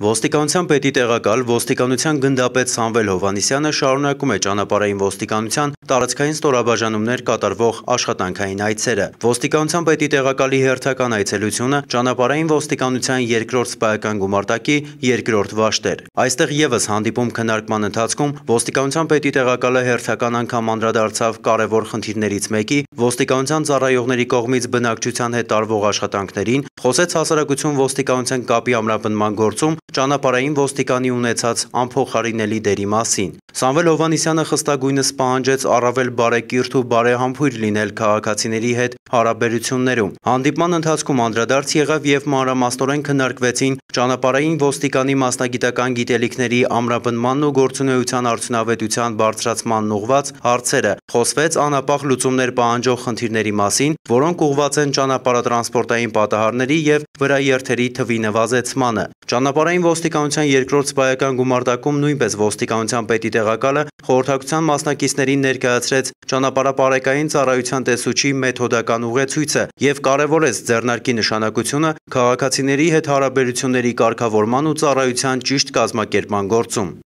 Ոստիկանության պետի տեղակալ ոստիկանության գնդապետ Սամվել Հովհաննիսյանը շարունակում է ճանապարհային ոստիկանության տարածքային ստորաբաժանումներ կատարվող աշխատանքային այցերը։ Ոստիկանության պետի տեղակալի հերթական այցելությունը ճանապարհային ոստիկանության երկրորդ սպայական գումարտակի երկրորդ վաշտեր։ Այստեղ եւս հանդիպում քննարկման ընթացքում ոստիկանության պետի տեղակալը հերթական անգամ անդրադարձավ կարևոր խնդիրներից մեկի ոստիկանության ծառայողների կողմից բնակչության հետ տարվող աշխատանքներին, խոսեց հասարակություն ոստիկանության կապի ամրապնդման գործում ճանապարհային ոստիկանի ունեցած անփոխարինելի դերի մասին։ Սամվել Հովհաննիսյանը խստագույնս պահանջեց առավել բարեկիրթ ու բարեհամբույր լինել քաղաքացիների հետ հարաբերություններում։ Հանդիպման ընթացքում անդրադարձ եղավ եւ մանրամասնորեն քննարկվեցին ճանապարհային ոստիկանի մասնագիտական գիտելիքների ամրապնդմանն ու գործունեության արդյունավետության բարձրացմանն ուղղված հարցերը։ Խոսվեց անապահ լուծումներ պահանջող խնդիրների մասին, որոնք ուղղված են ճանապարհատրանսպորտային պատահարների եւ վրաերթերի թվի նվազեցմանը։ Ճանապարհային ոստիկանության երկրորդ սպայական գումարտակում նույնպես ոստիկանության պետի տեղակալը խորհրդակցության մասնակիցներին ներկայացրեց ճանապարհապարեկային ծառայության տեսուչի մեթոդական ուղեցույցը եւ կարեւորեց ձեռնարկի նշանակությունը քաղաքացիների հետ հարաբերությունների կարգավորման ու ծառայության ճիշտ կազմակերպման գործում։